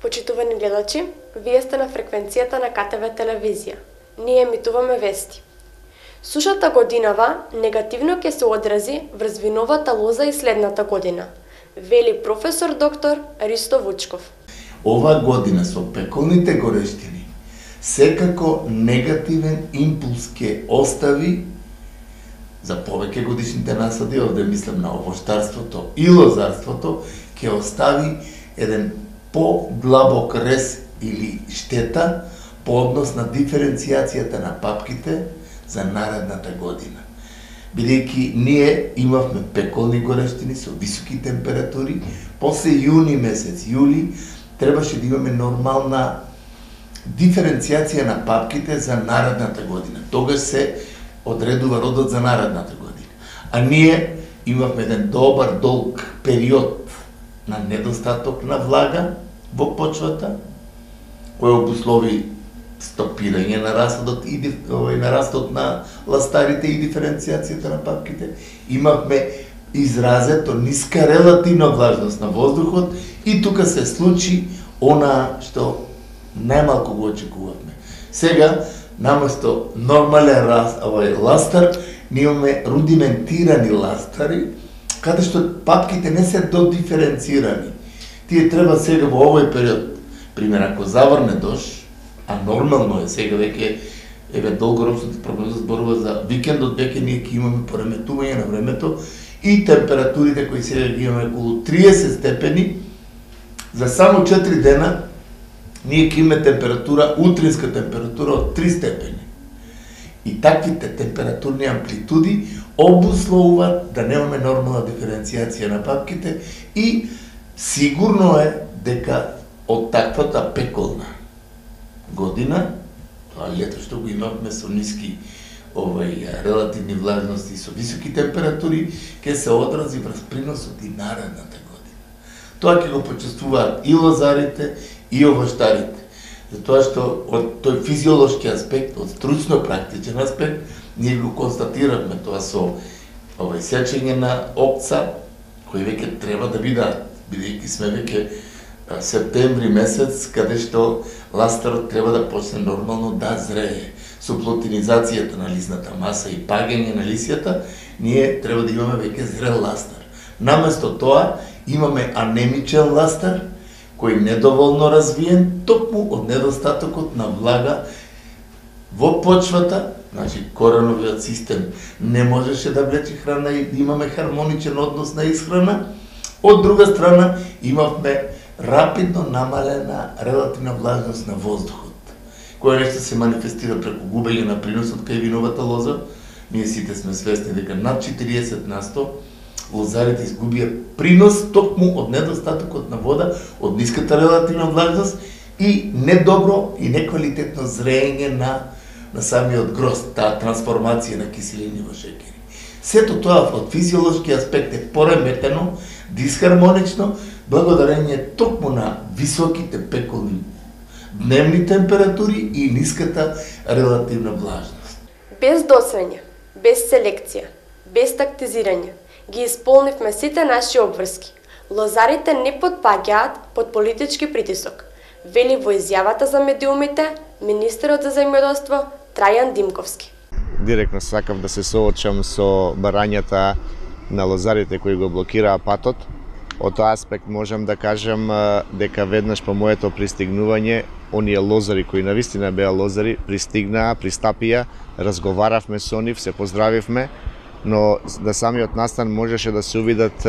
Почитувани гледачи, вие сте на фреквенцијата на КТВ телевизија. Ние емитуваме вести. Сушата годинава негативно ќе се одрази врз виновата лоза и следната година, вели професор доктор Ристо Вучков. Ова година со пеколните горештини секако негативен импулс ќе остави за повеќе годишните насади, овде мислам на овоштарството и лозарството, ќе остави еден по-длабок рез или штета по однос на диференцијацијата на папките за наредната година. Бидејќи ние имавме пеколни горештини со високи температури, после јуни месец, јули, требаше да имаме нормална диференцијација на папките за наредната година. Тогаш се одредува родот за наредната година. А ние имавме еден добар, долг период на недостаток на влага во почвата, кој обуслови стопирање на расодот и на растот на ластарите и диференцијацијата на папките. Имавме изразето ниска релативна влажност на воздухот и тука се случи она што најмалку го очекувавме. Сега, наместо нормален ластар, ние имаме рудиментирани ластари, каде што папките не се додиференцирани. Тие треба сега во овој период, пример, ако заврне дожд, а нормално е сега веќе, долгорочната прогноза зборува за викендот, веќе ние ќе имаме пореметување на времето и температурите кои сега ги имаме околу 30 степени, за само 4 дена ние ќе имаме температура, утринска температура од 3 степени. И таквите температурни амплитуди обусловуваат да немаме нормална диференцијација на папките и сигурно е дека од таквата пеколна година, тоа лето што го имавме со ниски релативни влажности и со високи температури, ќе се одрази врз приносот и наредната година. Тоа ќе го почувствуваат и лозарите, и овоштарите. Затоа што од тој физиолошки аспект, од стручно-практичен аспект, ние го констатиравме тоа со сечење на опца, кои веќе треба да бидат, бидејќи сме веќе септември месец, каде што ластарот треба да почне нормално да зрее. Со плотинизацијата на лисната маса и паѓање на лисјата, ние треба да имаме веќе зрел ластар. Наместо тоа, имаме анемичен ластар, кој недоволно развиен, токму од недостатокот на влага во почвата, значи кореновиот систем не можеше да влече храна и имаме хармоничен однос на исхрана. Од друга страна, имавме рапидно намалена релативна влажност на воздухот, која нешто се манифестира преку губење на приносот кај виновата лоза. Ние сите сме свесни дека над 40% лозарите изгубија принос токму од недостатокот на вода, од ниската релативна влажност и недобро и неквалитетно зреење на самиот грозд, таа трансформација на киселини во шеќери. Сето тоа од физиолошки аспект е пореметено, дисхармонично, благодарение токму на високите пеколни дневни температури и ниската релативна влажност. Без досвење, без селекција, без тактизирање, ги исполнивме сите наши обврски. Лозарите не потпаѓаат под политички притисок, вели во изјавата за медиумите министерот за земјоделство Трајан Димковски. Директно сакав да се соочам со барањата на лозарите кои го блокираа патот. Од тој аспект можам да кажам дека веднаш по моето пристигнување, оние лозари кои навистина беа лозари, пристигнаа, пристапија, разговаравме со нив, се поздравивме, но на самиот настан можеше да се увидат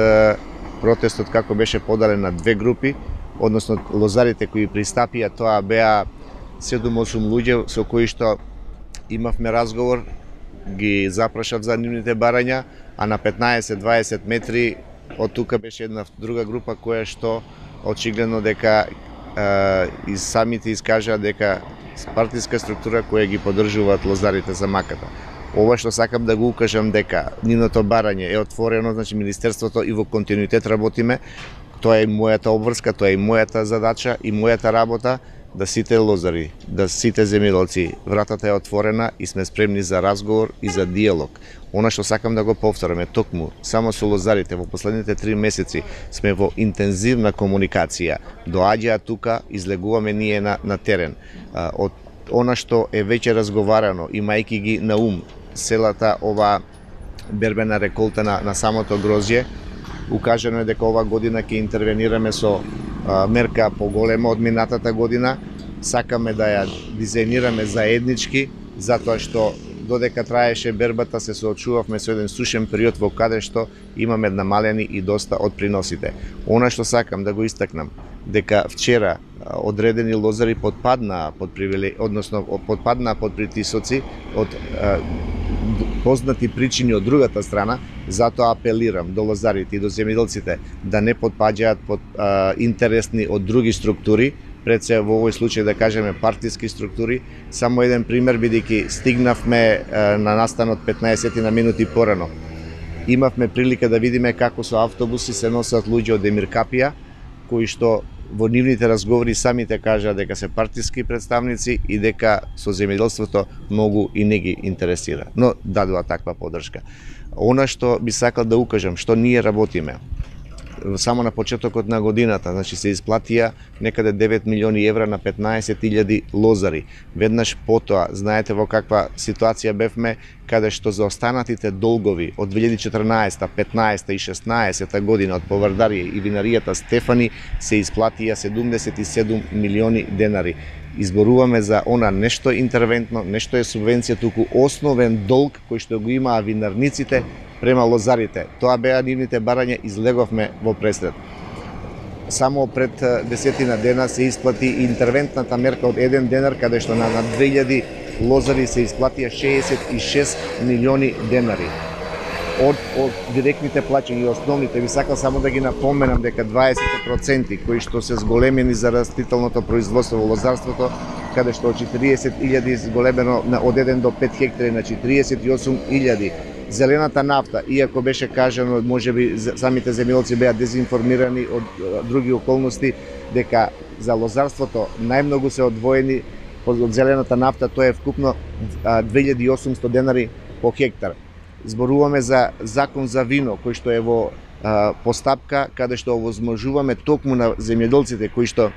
протестот како беше поделен на две групи, односно лозарите кои пристапија, тоа беа 7-8 луѓе со кои што имавме разговор, ги запрашав за нивните барања, а на 15-20 метри од тука беше една друга група која што очигледно дека и самите искажаа дека партиска структура која ги поддржуваат лозарите за маката. Ова што сакам да го укажам дека нивното барање е отворено, значи министерството и во континуитет работиме. Тоа е мојата обврска, тоа е мојата задача и мојата работа да сите лозари, да сите земјоделци, вратата е отворена и сме спремни за разговор и за диалог. Она што сакам да го повтораме, токму, само со лозарите во последните 3 месеци сме во интензивна комуникација. Доаѓаат тука, излегуваме ние на терен. Од она што е веќе разговарано, имајќи ги на ум целата ова бербена реколта на самото грозје, укажено е дека ова година ќе интервенираме со мерка поголема од минатата година. Сакаме да ја дизајнираме заеднички, затоа што додека траеше бербата се соочувавме со еден сушен период во каде што имаме намалени и доста од приносите. Она што сакам да го истакнам, дека вчера одредени лозари подпаднаа под притисоци од познати причини од другата страна, затоа апелирам до лозарите и до земјоделците да не подпаѓаат под интересни од други структури, пред се во овој случај да кажеме партиски структури. Само еден пример, бидејќи стигнавме на настанот 15 на минути порано. Имавме прилика да видиме како со автобуси се носат луѓе од Емир Капија, кои што во нивните разговори самите кажаа дека се партиски представници и дека со земјоделството многу и не ги интересира. Но дадува таква поддршка. Она што би сакал да укажам, што ние работиме, само на почетокот на годината, значи се исплатија некаде 9 милиони евра на 15.000 лозари. Веднаш потоа, знаете во каква ситуација бевме, каде што за останатите долгови од 2014, 15 и 16 година од Повардарија и винаријата Стефани се исплатија 77 милиони денари. Изборуваме за она нешто интервентно, нешто е субвенција, туку основен долг кој што го имаа винарниците према лозарите. Тоа беа нивните барања, излеговме во пресред. Само пред 10 дена се исплати интервентната мерка од 1 денар, каде што на 2000 лозари се исплатија 66 милиони денари. Од директните плаќања и основните, ви сакам само да ги напоменам дека 20% кои што се зголемени за растителното производство во лозарството, каде што од 40.000 зголемено од 1 до 5 хектари на 48.000. Зелената нафта, иако беше кажано, можеби самите земјоделци беа дезинформирани од други околности, дека за лозарството најмногу се одвоени од зелената нафта, тоа е вкупно 2800 денари по хектар. Зборуваме за закон за вино, кој што е во постапка, каде што овозможуваме токму на земјоделците кои што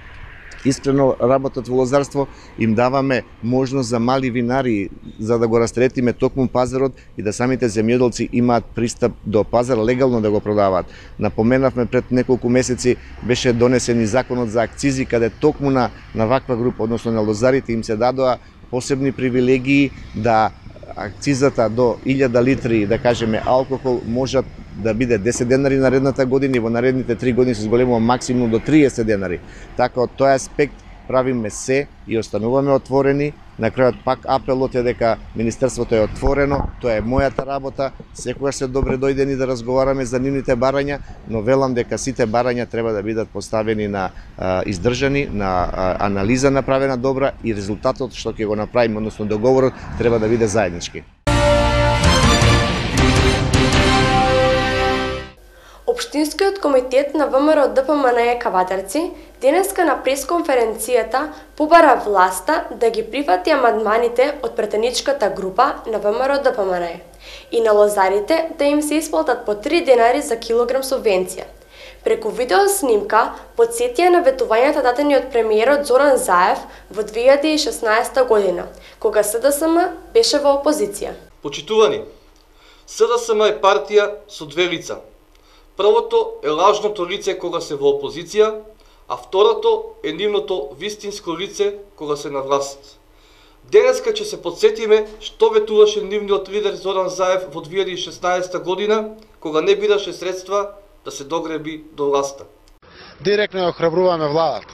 искрено работат во лозарство, им даваме можност за мали винари, за да го растретиме токму пазарот и да самите земјоделци имаат пристап до пазар легално да го продаваат. Напоменавме пред неколку месеци беше донесен и законот за акцизи, каде токму на ваква група, односно на лозарите, им се дадоа посебни привилегии да акцизата до 1000 литри, да кажеме, алкохол можат да биде 10 денари наредната година и во наредните 3 години се зголемува максимум до 30 денари. Така од тој аспект правиме се и остануваме отворени. На крајот пак апелот е дека Министерството е отворено, тоа е мојата работа, секогаш се добре дојдени да разговараме за нивните барања, но велам дека сите барања треба да бидат поставени на издржани, на анализа направена добра и резултатот што ќе го направиме, односно договорот, треба да биде заеднички. Општинскиот комитет на ВМРО ДПМН Кавадарци денеска на пресконференцијата побара власта да ги прифати амандманите од претеничката група на ВМРО ДПМН и на лозарите да им се исплатат по 3 денари за килограм субвенција. Преку видеоснимка потсетија на ветувањата дадени од премиерот Зоран Заев во 2016 година, кога СДСМ беше во опозиција. Почитувани, СДСМ е партија со две лица. Првото е лажното лице кога се во опозиција, а второто е нивното вистинско лице кога се на власт. Денеска ќе се подсетиме што ветуваше нивниот лидер Зоран Заев во 2016 година, кога не бидаше средства да се догреби до власта. Директно ја охрабруваме владата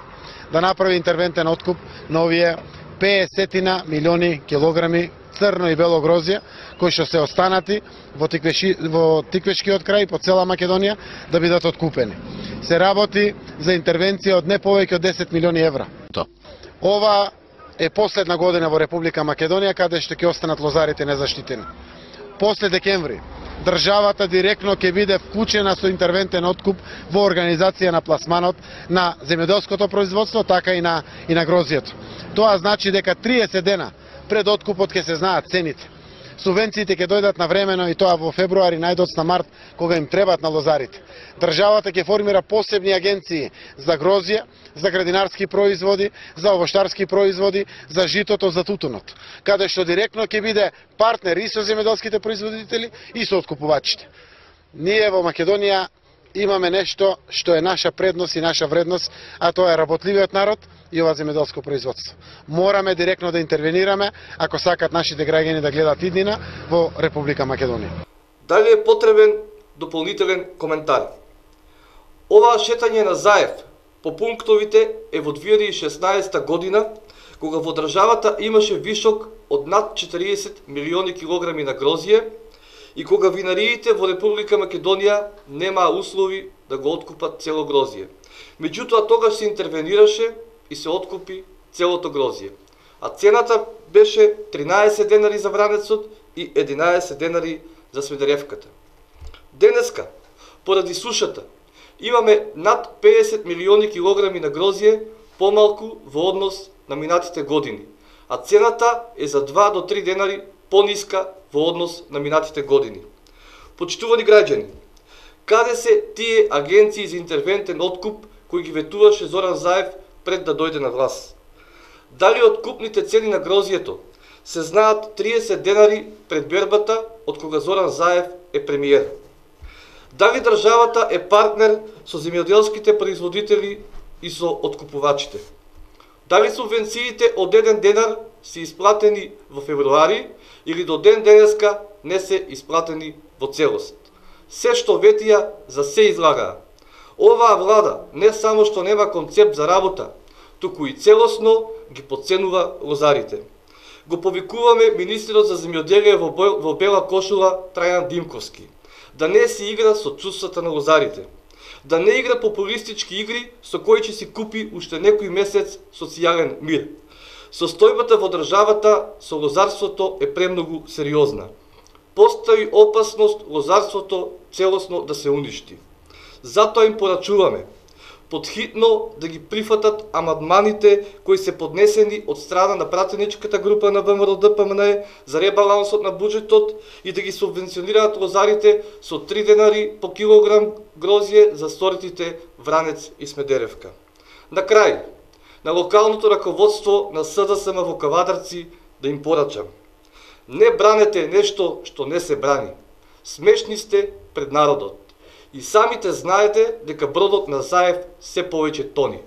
да направи интервентен откуп на овие 50 милиони килограми црно и бело грозје, кои што се останати во Тиквешкиот крај по цела Македонија да бидат откупени. Се работи за интервенција од не повеќе од 10 милиони евра. Ова е последна година во Република Македонија каде што ќе останат лозарите незаштитени. После декември државата директно ќе биде вклучена со интервентен откуп во организација на пласманот на земјоделското производство, така и на грозјето. Тоа значи дека 30 дена пред откупот ќе се знаат цените. Субвенциите ќе дојдат навремено и тоа во февруари, најдоцна март, кога им требат на лозарите. Државата ќе формира посебни агенции за грозје, за градинарски производи, за овоштарски производи, за житото, за тутунот, каде што директно ќе биде партнер и со земјоделските производители и со откупувачите. Ние во Македонија имаме нешто што е наша предност и наша вредност, а тоа е работливиот народ и ова земјоделско производство. Мораме директно да интервенираме ако сакат нашите граѓани да гледат иднина во Република Македонија. Дали е потребен дополнителен коментар? Оваа шетање на Заев по пунктовите е во 2016 година, кога во државата имаше вишок од над 40 милиони килограми на грозје и кога винариите во Република Македонија немаа услови да го откупат цело грозје. Меѓутоа тогаш се интервенираше и се откупи целото грозје. А цената беше 13 денари за вранецот и 11 денари за Смедеревката. Денеска, поради сушата, имаме над 50 милиони килограми на грозје помалку во однос на минатите години, а цената е за 2 до 3 денари пониска во однос на минатите години. Почитувани граѓани, каде се тие агенции за интервентен откуп кои ги ветуваше Зоран Заев пред да дојде на власт? Дали откупните цени на грозјето се знаат 30 денари пред бербата од кога Зоран Заев е премиер? Дали државата е партнер со земјоделските производители и со откупувачите? Дали субвенциите од 1 денар се исплатени во февруари или до ден денеска не се исплатени во целост? Се што ветија за се излагаа. Оваа влада не само што нема концепт за работа, туку и целосно ги подценува лозарите. Го повикуваме министерот за земјоделие во бела кошула Трајан Димковски да не си игра со чувствата на лозарите, да не игра популистички игри со кои ќе си купи уште некој месец социјален мир. Состојбата во државата со лозарството е премногу сериозна. Постои опасност лозарството целосно да се уништи. Затоа им порачуваме подхитно да ги прифатат амандманите кои се поднесени од страна на пратеничката група на ВМРО-ДПМНЕ за ребалансот на буџетот и да ги субвенционираат лозарите со 3 денари по килограм грозје за сортите Вранец и Смедеревка. На крај, на локалното раководство на СДСМ во Кавадарци да им порачам: не бранете нешто што не се брани. Смешни сте пред народот. И самите знаете дека бродот на Заев се повеќе тони.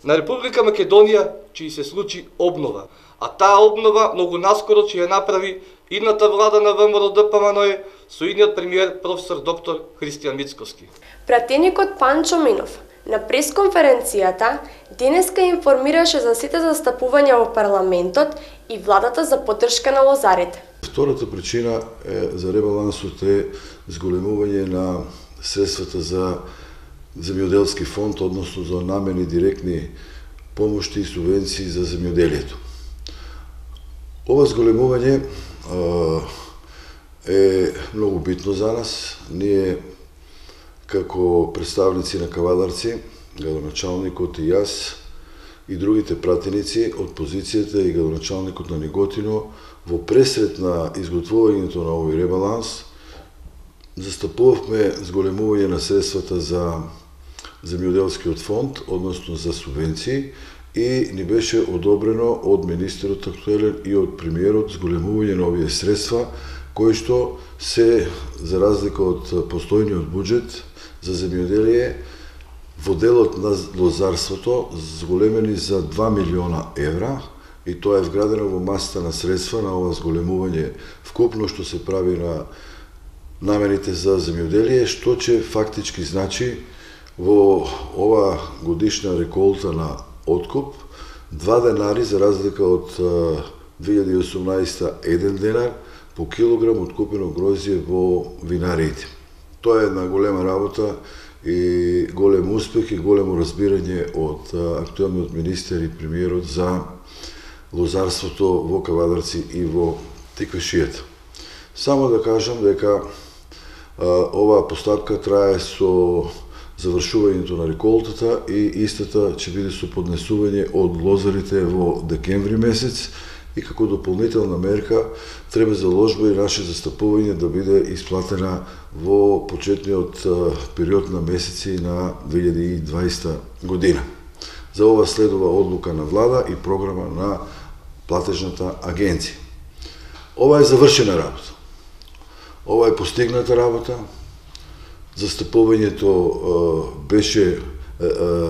На Република Македонија ќе се случи обнова, а таа обнова многу наскоро ќе ја направи идната влада на ВМРО-ДПМНЕ со идниот премиер професор доктор Христијан Мицковски. Пратеникот Панчо Минов на пресконференцијата денеска информираше за сите застапувања во парламентот и владата за поддршка на лозарите. Втората причина за ребалансот е зголемување на средствата за земјоделски фонд, односно за намени директни помошти и субвенции за земјоделието. Ова зголемување е многу битно за нас. Ние, како представници на Кавадарци, градоначалникот и јас, и другите пратеници од позицијата и градоначалникот на Неготино, во пресред на изготвувањето на овој ребаланс, застапувавме зголемување на средствата за земјоделскиот фонд, односно за субвенции, и ни беше одобрено од министерот актуелен и од премиерот зголемување на овие средства, кои што се, за разлика од постојниот буџет за земјоделие, во делот на лозарството зголемени за 2 милиона евра, и тоа е вградено во масата на средства на ова зголемување вкупно што се прави на намените за земјоделие, што ќе фактички значи во ова годишна реколта на откуп 2 денари за разлика од 2018 1 денар по килограм откупено грозје во винариите. Тоа е една голема работа и голем успех и големо разбирање од актуелниот министер и премиерот за лозарството во Кавадарци и во Тиквешијата. Само да кажам дека Оваа постапка трае со завршувањето на реколтата и истата ќе биде со поднесување од лозарите во декември месец и како дополнителна мерка треба заложба и наше застапување да биде исплатена во почетниот период на месеци на 2020 година. За ова следува одлука на влада и програма на платежната агенција. Ова е завршена работа. Ова е постигната работа. Застапувањето беше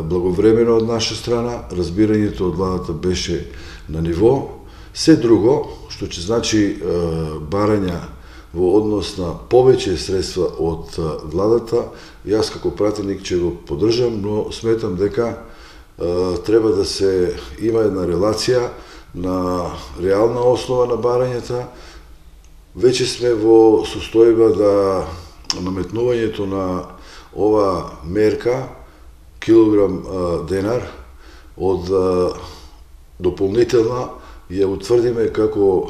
благовремено од наша страна, разбирањето од владата беше на ниво. Се друго, што ќе значи барања во однос на повеќе средства од владата, јас како пратеник ќе го поддржам, но сметам дека треба да се има една релација на реална основа на барањата. Веќе сме во состојба да наметнувањето на ова мерка, килограм денар, од дополнителна, ја утврдиме како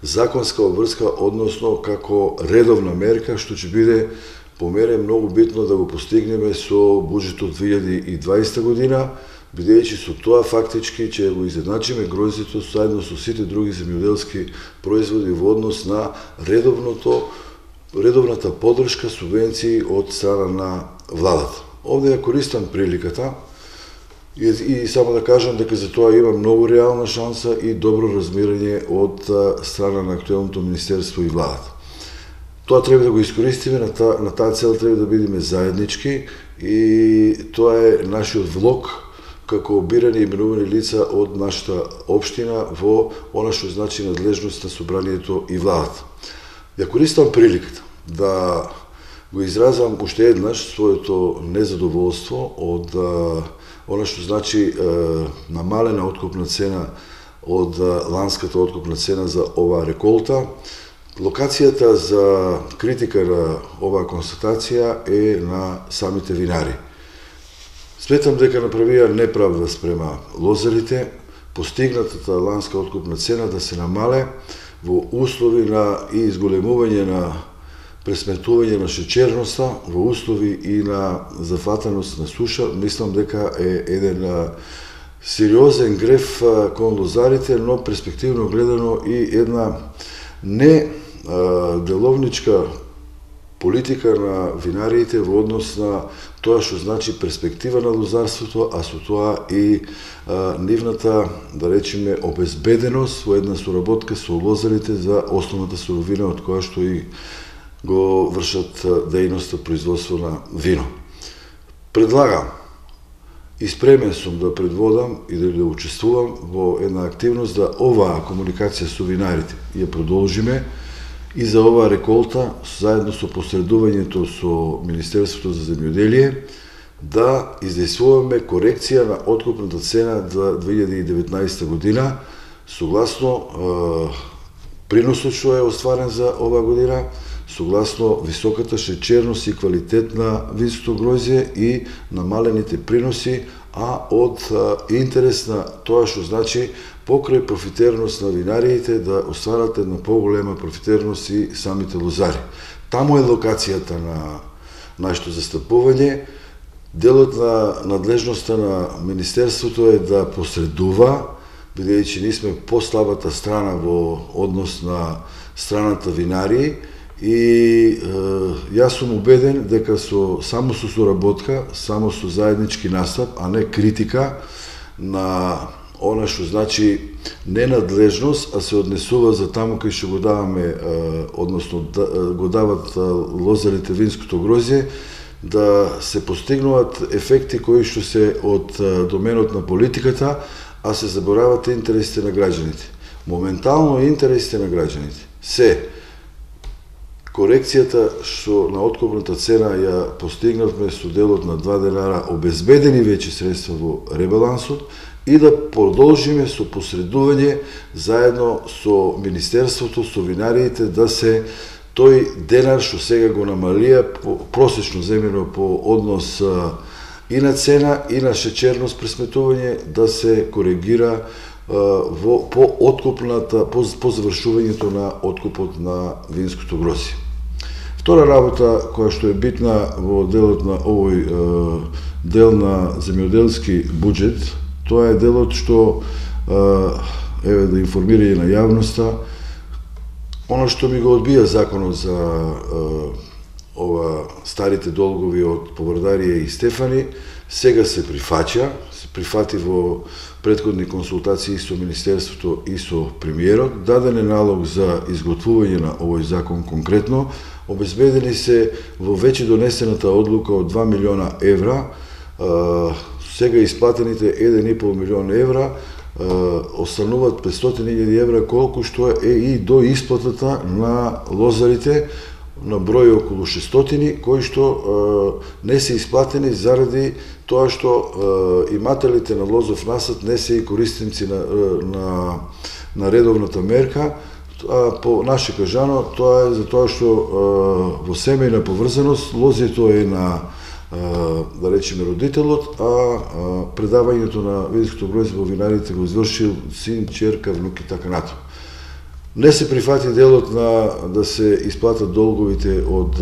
законска обврска, односно како редовна мерка, што ќе биде по мене многу битно да го постигнеме со буџетот 2020 година, бидејќи со тоа фактички ќе го изедначиме грозјето заедно со сите други земјоделски производи во однос на редовната поддршка, субвенции од страна на владата. Овде ја користам приликата и само да кажам дека за тоа има многу реална шанса и добро размирање од страна на актуелното министерство и владата. Тоа треба да го искористиме, на таа цел треба да бидеме заеднички и тоа е нашиот влог како бирани и именувани лица од нашата општина во она што значи надлежност на собранието и владата. Ја користам приликата да го изразам уште еднаш своето незадоволство од она што значи намалена откупна цена од ланската откупна цена за оваа реколта. Локацијата за критика на оваа констатација е на самите винари. Сметам дека направија неправда спрема лозарите, постигнатата ланска откупна цена да се намале во услови на и изголемување на пресметување на шеќерноста, во услови и на зафатаност на суша, мислам дека е еден сериозен греф кон лозарите, но перспективно гледано и една не деловничка политика на винариите во однос на тоа што значи перспектива на лозарството, а со тоа и нивната, да речеме, обезбеденост во една соработка со лозарите за основната суровина од која што и го вршат дејноста производство на вино. Предлагам и спремен сум да предводам и да учествувам во една активност да оваа комуникација со винарите ја продолжиме и за оваа реколта, заедно со посредувањето со Министерството за земјоделие, да издействуваме корекција на откупната цена за 2019 година, согласно приносот што е остварен за оваа година, согласно високата шеќерност и квалитет на винското грозје и намалените приноси, а од интерес на тоа што значи покрај профитерност на винариите да остварат една поголема профитерност и самите лозари. Таму е локацијата на нашето застапување. Делот на надлежноста на Министерството е да посредува, бидејќи ние сме послабата страна во однос на страната винари, и јас сум убеден дека само со соработка, само со заеднички настап, а не критика на она што значи ненадлежност, а се однесува за таму кај што го даваме, односно го дават лозарите винското грозје, да се постигнуваат ефекти кои што се од доменот на политиката, а се заборават интересите на граѓаните. Моментално интересите на граѓаните се корекцијата што на откупната цена ја постигнавме со делот на 2 денара обезбедени веќе средства во ребалансот и да продолжиме со посредување заедно со Министерството, со винариите, да се тој денар што сега го намалија просечно земено по однос и на цена и на шеќерност пресметување, да се коригира по завршувањето на откупот на винското грозје. Втора работа која што е битна во делот на овој дел на земјоделски буџет, тоа е делот што еве да информира и на јавноста, оно што ми го одбија законот за ова старите долгови од Повардарија и Стефани, сега се прифати во претходни консултации со Министерството и со премиерот, даден е налог за изготвување на овој закон конкретно, обезбедени се во веќе донесената одлука од 2 милиона евра, сега исплатените 1,5 милион евра, остануваат 500.000 евра, колку што е и до исплатата на лозарите, на број околу 600, кои што не се исплатени заради тоа што имателите на лозов насад не се и користници на редовната мерка. По наше кажано, тоа е за тоа што во семејна поврзаност лозето е на, да речеме, родителот, а предавањето на винското грозде во винарите го извршил син, ќерка, внук и така натаму. Не се прифати делот на да се исплатат долговите од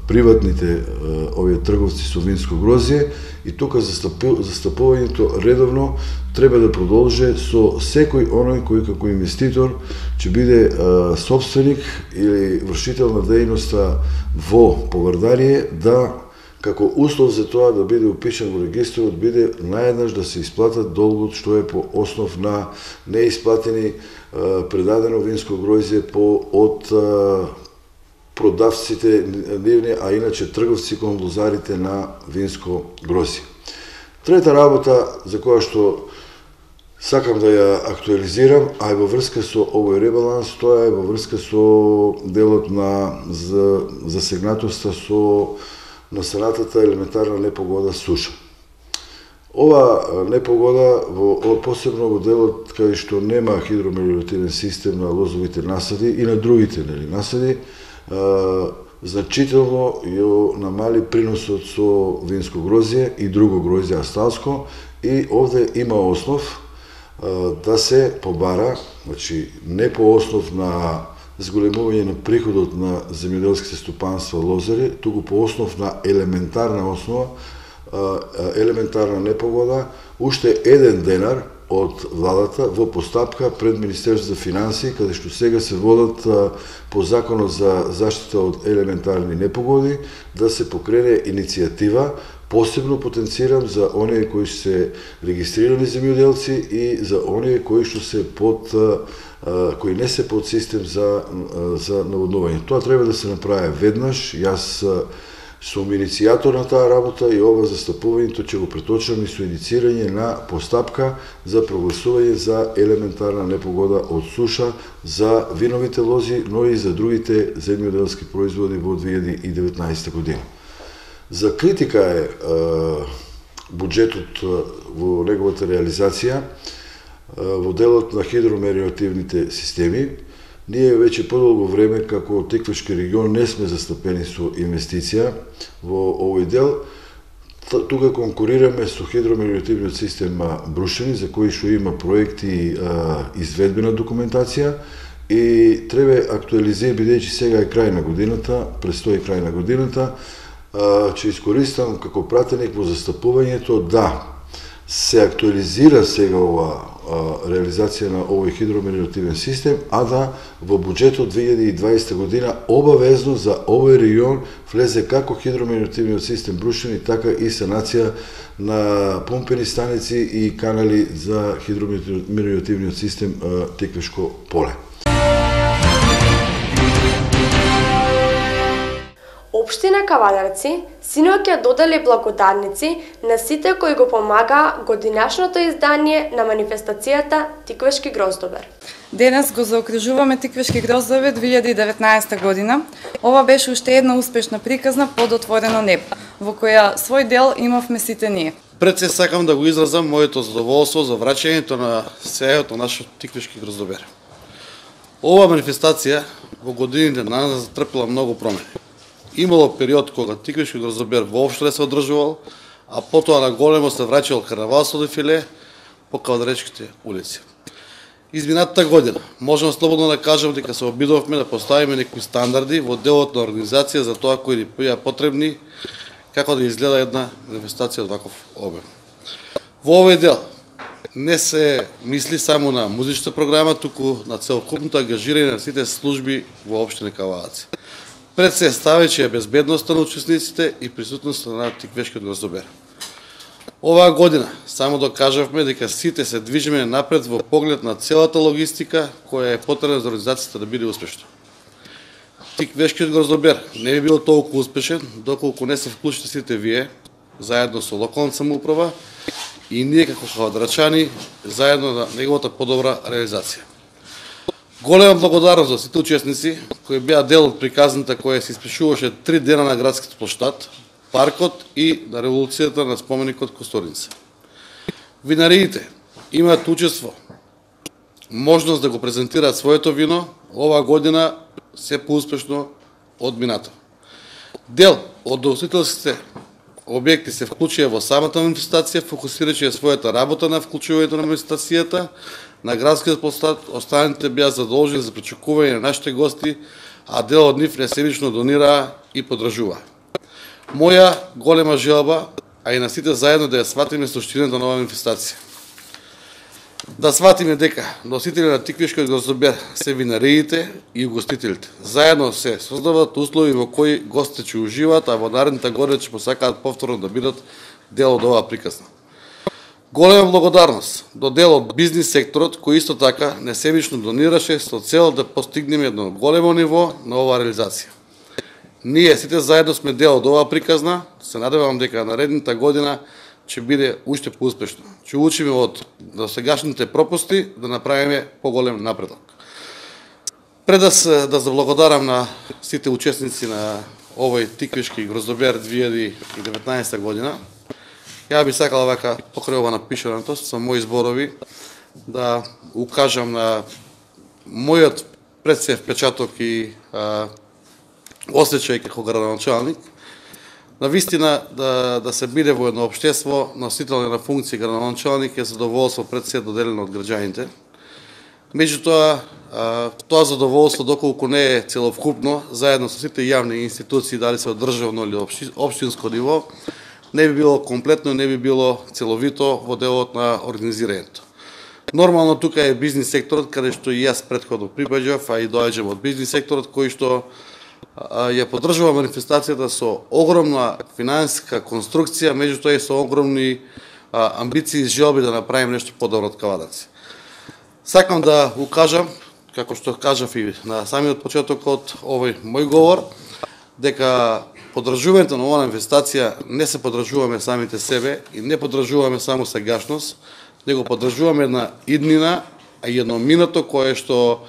приватните овие трговци со винско грозје и тука застапувањето редовно треба да продолжи со секој оној кој како инвеститор ќе биде собственик или вршител на дејноста во Повардарие, да како услов за тоа да биде упишан во регистрот, биде наеднаш да се исплатат долгот што е по основ на неисплатени предадено винско гројзе од продавците нивни, а иначе трговци кон лозарите на винско гројзе. Трета работа за која што сакам да ја актуализирам, а е во врска со овој ребаланс, тоа е во врска со делот на засегнатоста со настанатата елементарна непогода суша. Ова непогода, посебно во делот кај што нема хидромелиоративен систем на лозовите насади и на другите насади, значително ја намали приносот со винско грозје и друго грозје асталско, и овде има основ да се побара, значи не по основ на зголемување на приходот на земјоделските стопанства лозари, туку по основ на елементарна непогода, уште 1 денар од владата во постапка пред Министерството за финансии, каде што сега се водат по законот за заштита од елементарни непогоди, да се покрене иницијатива, посебно потенцирам за оние кои се регистрирани земјоделци и за оние кои што се кои не се под систем за наводнување. Тоа треба да се направи веднаш. Јас сум иницијатор на таа работа и ова застапувањето ќе го преточам и со инициирање на постапка за прогласување за елементарна непогода од суша за виновите лози, но и за другите земјоделски производи во 2019 година. За критика е буџетот во неговата реализација во делот на хидромелиоративните системи. Ние веќе подолго време како Тиквашки регион не сме застапени со инвестиција во овој дел. Тука конкурираме со хидромелиоративниот систем Брушени, за кој што има проекти и изведбена документација, и треба актуализира, бидејќи сега е крај на годината, престои крај на годината, ќе искористам како пратеник во застапувањето да се актуализира сега ова реализација на овој хидромелиоративен систем, а да во буџетот 2020 година обавезно за овој регион влезе како хидромелиоративниот систем Брушени, така и санација на помпени станици и канали за хидромелиоративниот систем Тиквешко поле. Општина Кавадарци синоќа додели благодарници на сите кои го помагаа годинашното издание на манифестацијата Тиквешки гроздобер. Денес го заокружуваме Тиквешки гроздобер 2019 година. Ова беше уште една успешна приказна под отворено небо, во која свој дел имавме сите ние. Пред се сакам да го изразам моето задоволство за враќањето на сејот на нашиот Тиквешки гроздобер. Ова манифестација во годините на нас затрпела многу промени. Имало период кога Тиквешки гроздобер воопшто не се одржувал, а потоа на големо се враќал карнавалско дефиле по кавадаречките улици. Изминатата година можам слободно да кажам дека се обидовме да поставиме некои стандарди во делот на организација за тоа кои ни беа потребни, како да изгледа една манифестација од ваков обем. Во овој дел не се мисли само на музичната програма, туку на целокупното ангажирање на сите служби во општина Кавалаци. Пред се ставајќи безбедноста на учесниците и присутноста на Тиквешкиот гроздобер. Оваа година само докажавме дека сите се движиме напред во поглед на целата логистика која е потребна за организацијата да биде успешна. Тиквешкиот гроздобер не би бил толку успешен доколку не се вклучите сите вие, заедно со локалната самоуправа и ние како кавадарчани, заедно на неговата подобра реализација. Голема благодарност за сите учесници кои беа дел од приказната која се испишуваше 3 дена на градскиот площад, паркот и на револуцијата на споменикот Костурница. Винариите имаат учество, можност да го презентираат своето вино оваа година се поуспешно од минато. Дел од ugostителските објекти се вклучија во самата манифестација, фокусирајќи својата работа на вклучувањето на манифестацијата на градскиот площад. Останатите беа задолжени за причекување на нашите гости, а дел од нив несебично донираа и поддржуваа. Моја голема желба, а и на сите заедно да ја сватиме суштината на оваа манифестација. Да сватиме дека носители на Тиквешкиот гроздобер се винариите и угостителите. Заедно се создават услови во кои гостите ќе уживаат, а во наредните години ќе посакаат повторно да бидат дел од оваа приказна. Голема благодарност до дел од бизнис секторот кој исто така несебично донираше со цел да постигнеме едно големо ниво на оваа реализација. Ние сите заедно сме дел од оваа приказна, се надевам дека наредната година ќе биде уште поуспешно. Ќе учиме од досегашните пропусти да направиме поголем напредок. Пред да заблагодарам на сите учесници на овој Тиквешки гроздобер 2019 година, ја би сакала вака покрај ова напишаното со мои зборови да укажам на мојот пред се впечаток и осеќај како градоначалник, на вистина да се биде во едно општество носител на функција градоначалник е задоволство пред се доделено од граѓаните. Меѓутоа, тоа задоволство доколку не е целокупно, заедно со сите јавни институции, дали се од државно или општинско ниво, не би било комплетно, не би било целовито во делот на организирањето. Нормално тука е бизнис секторот, каде што и јас претходно припаѓав, а и доаѓам од бизнис секторот, кој што ја поддржува манифестацијата со огромна финансиска конструкција, меѓутоа и со огромни амбиции и желби да направим нешто подобро од Кавадарци. Сакам да укажам, како што кажав и на самиот почеток од овој мој говор, дека поддржувањето на оваа манифестација не се поддржуваме самите себе и не поддржуваме само сегашност, него поддржуваме една иднина, а и едно минато кое што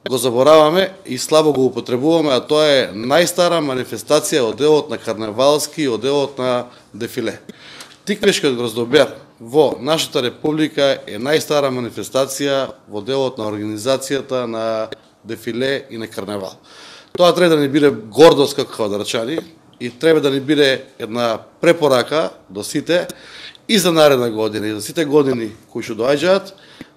го забораваме и слабо го употребуваме, а тоа е најстара манифестација од делот на карневалски и од делот на дефиле. Тиквешкиот гроздобер во нашата република е најстара манифестација во делот на организацијата на дефиле и на карневал. Тоа треба да ни биде гордост како кавадарчани и треба да ни биде една препорака до сите и за наредна година и за сите години кои што доаѓаат,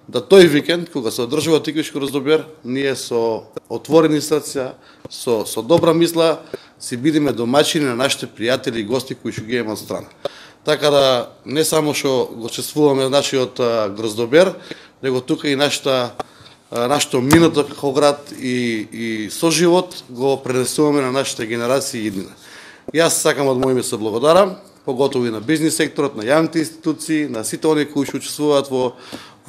да тој викенд, кога се одржува Тиквешки гроздобер, ние со отворени срца, со добра мисла, си бидеме домаќини на нашите пријатели и гости кои што ги имаме од страна. Така да не само што го чествуваме нашиот гроздобер, него тука и нашето минато како град и соживот го пренесуваме на нашите генерации и иднина. Јас сакам од мој име се благодарам, поготово и на бизнис секторот, на јавните институции, на сите оние кои што учествуваат во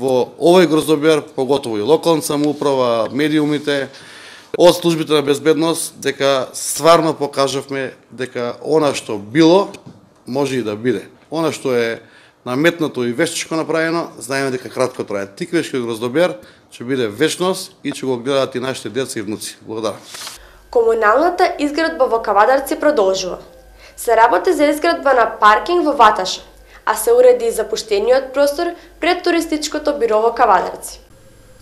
овој гроздобер, поготово и локална самоуправа, медиумите, од службите на безбедност, дека стварно покажавме дека она што било, може и да биде. Она што е наметнато и вештичко направено, знаеме дека кратко трае. Тиквешкиот гроздобер ќе биде вечност и ќе го гледаат и нашите деца и внуци. Благодарам. Комуналната изградба во Кавадарци продолжува. Се работи за изградба на паркинг во Ваташа, а се уреди и запуштениот простор пред туристичкото биро во Кавадарци.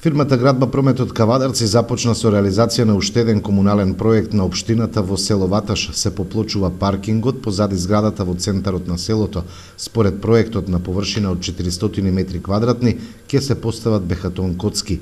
Фирмата Градба Прометот Кавадарци започна со реализација на уште еден комунален проект на општината во село Ваташ. Се поплочува паркингот позади зградата во центарот на селото. Според проектот на површина од 400 метри квадратни ќе се постават бехатон коцки.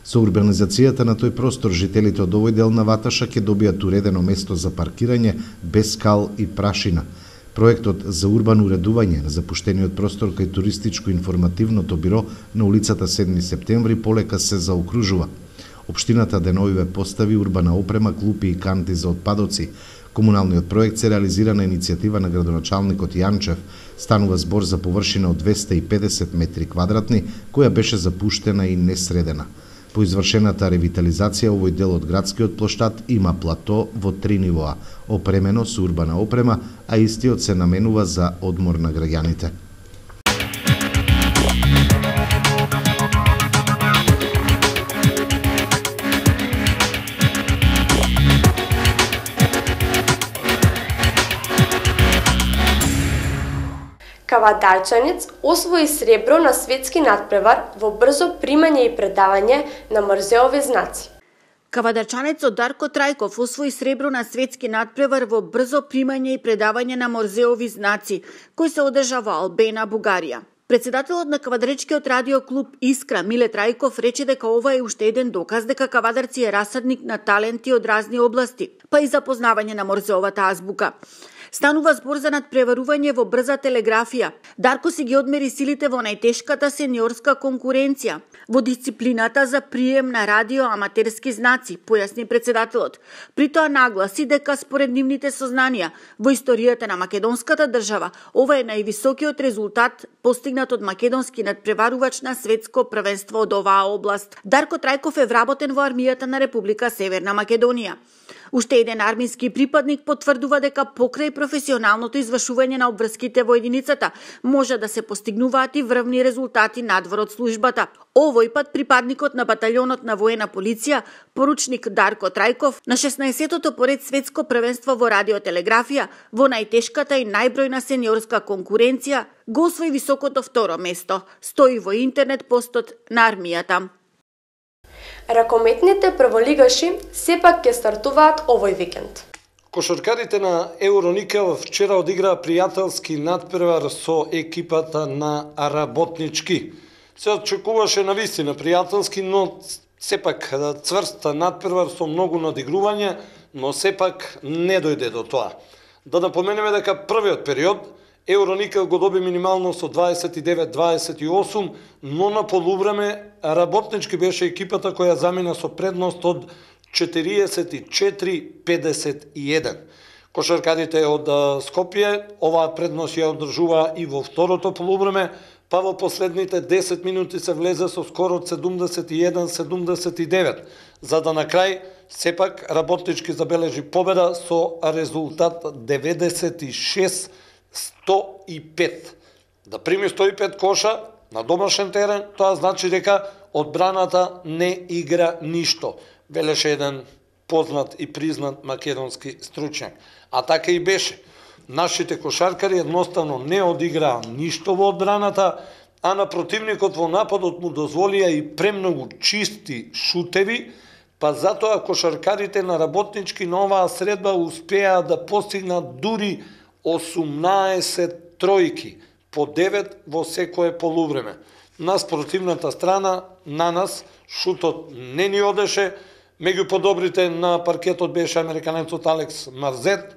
Со урбанизацијата на тој простор жителите од овој дел на Ваташа ќе добијат уредено место за паркирање без кал и прашина. Проектот за урбано уредување на запуштениот простор кај туристичко-информативното биро на улицата 7 септември полека се заокружува. Општината деновиве постави урбана опрема, клупи и канти за отпадоци. Комуналниот проект се реализира на иницијатива на градоначалникот Јанчев. Станува збор за површина од 250 метри квадратни, која беше запуштена и несредена. По извршената ревитализација, овој дел од градскиот плоштад има плато во 3 нивоа, опремено со урбана опрема, а истиот се наменува за одмор на граѓаните. Кавадарчанец освои сребро на светски натпревар во брзо примање и предавање на морзеови знаци. Кавадарчанецот Дарко Трајков освои сребро на светски натпревар во брзо примање и предавање на морзеови знаци, кој се одржа во Албена, Бугарија. Председателот на Кавадаречкиот радиоклуб Искра, Миле Трајков, рече дека ова е уште еден доказ дека Кавадарци е расадник на таленти од разни области, па и запознавање на морзеовата азбука. Станува збор за надпреварување во брза телеграфија. Дарко си ги одмери силите во најтешката сениорска конкуренција, во дисциплината за прием на радиоаматерски знаци, појасни председателот. При тоа нагласи дека според нивните сознанија во историјата на македонската држава, ова е највисокиот резултат постигнат од македонски надпреварувач на светско првенство од оваа област. Дарко Трајков е вработен во армијата на Република Северна Македонија. Уште еден армиски припадник потврдува дека покрај професионалното извршување на обврските во единицата може да се постигнуваат и врвни резултати надвор од службата. Овој пат припадникот на баталјонот на воена полиција, поручник Дарко Трајков, на 16-тото поред светско првенство во радиотелеграфија, во најтешката и најбројна сениорска конкуренција, го освои високото второ место, стои во интернет постот на армијата. Ракометните прволигаши сепак ќе стартуваат овој викенд. Кошаркарите на Евроникел вчера одиграа пријателски надпревар со екипата на Работнички. Се очекуваше навистина пријателски, но сепак цврст надпревар со многу надигрување, но сепак не дојде до тоа. Да напоменеме дека првиот период Евроникел го доби минимално со 29-28, но на полувреме Работнички беше екипата која замина со предност од 44-51. Кошаркарите од Скопје оваа предност ја одржува и во второто полувреме, па во последните 10 минути се влезе со скоро 71-79, за да на крај сепак Работнички забележи победа со резултат 96-105. Да прими 105 коша на домашен терен, тоа значи дека одбраната не игра ништо, велеше еден познат и признат македонски стручњак. А така и беше. Нашите кошаркари едноставно не одиграа ништо во одбраната, а на противникот во нападот му дозволија и премногу чисти шутеви, па затоа кошаркарите на Работнички на оваа средба успеа да постигнат дури 18 тројки, по 9 во секое полувреме. На спротивната страна, на нас, шутот не ни одеше, меѓу подобрите на паркетот беше американецот Алекс Марзет,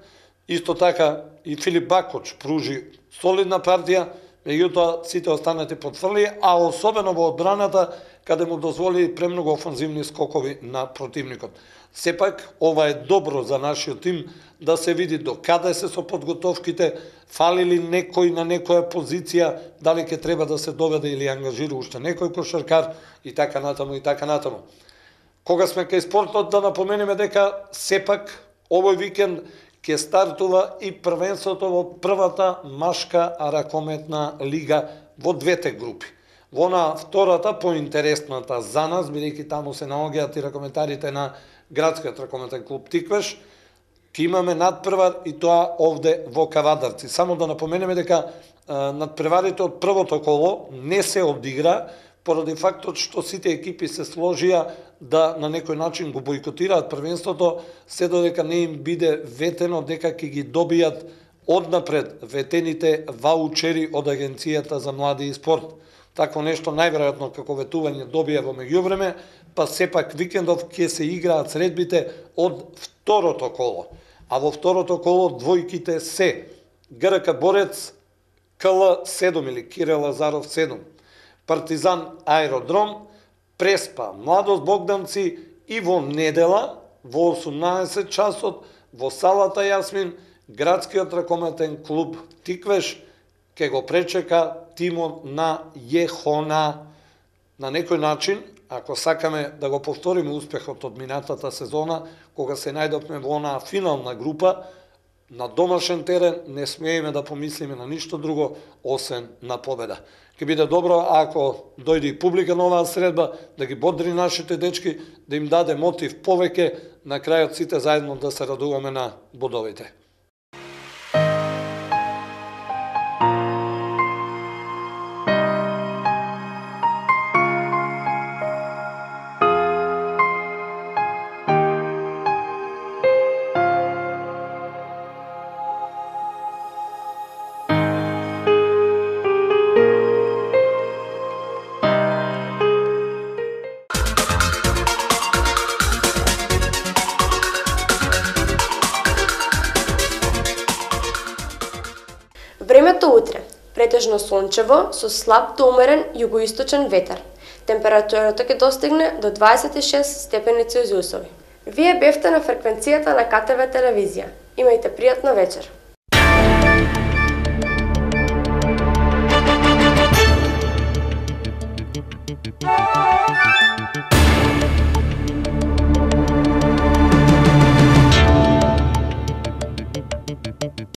исто така и Филип Бакоч пружи солидна партија, меѓутоа сите останати потврли, а особено во одбраната, каде му дозволи премногу офанзивни скокови на противникот. Сепак, ова е добро за нашиот тим да се види до каде се со подготовките, фали ли некој на некоја позиција, дали ќе треба да се доведе или ангажира уште некој кошаркар и така натаму и така натаму. Кога сме кај спортот, да напоменеме дека сепак овој викенд ќе стартува и првенството во првата машка ракометна лига во двете групи. Во на втората, поинтересната за нас, бидејќи таму се наоѓаат и ракометарите на градскиот ракометен клуб Тиквеш, ќе имаме надпревар и тоа овде во Кавадарци. Само да напоменеме дека надпреварите од првото коло не се одигра поради фактот што сите екипи се сложија да на некој начин го бойкотираат првенството, се додека не им биде ветено дека ќе ги добијат однапред ветените ваучери од Агенцијата за млади и спорт. Такво нешто најверојатно како ветување добија во меѓувреме, па сепак викендов ќе се играат средбите од второто коло. А во второто коло двојките се ГРК Борец КЛ 7 или Кирил Лазаров 7, Партизан Аеродром, Преспа Младост Богданци и во недела во 18 часот во салата Јасмин градскиот ракометен клуб Тиквеш ќе го пречека тимот на Јехона. На некој начин, ако сакаме да го повториме успехот од минатата сезона, кога се најдовме во онаа финална група, на домашен терен не смееме да помислиме на ништо друго, освен на победа. Ке биде добро ако дојде и публика на оваа средба, да ги бодри нашите дечки, да им даде мотив повеќе, на крајот сите заедно да се радуваме на бодовите. Времето утре, претежно сончево со слаб до умерен југоисточен ветер. Температурата ќе достигне до 26 степени Целзиусови. Вие бевте на фреквенцијата на КТВ телевизија. Имајте пријатна вечер.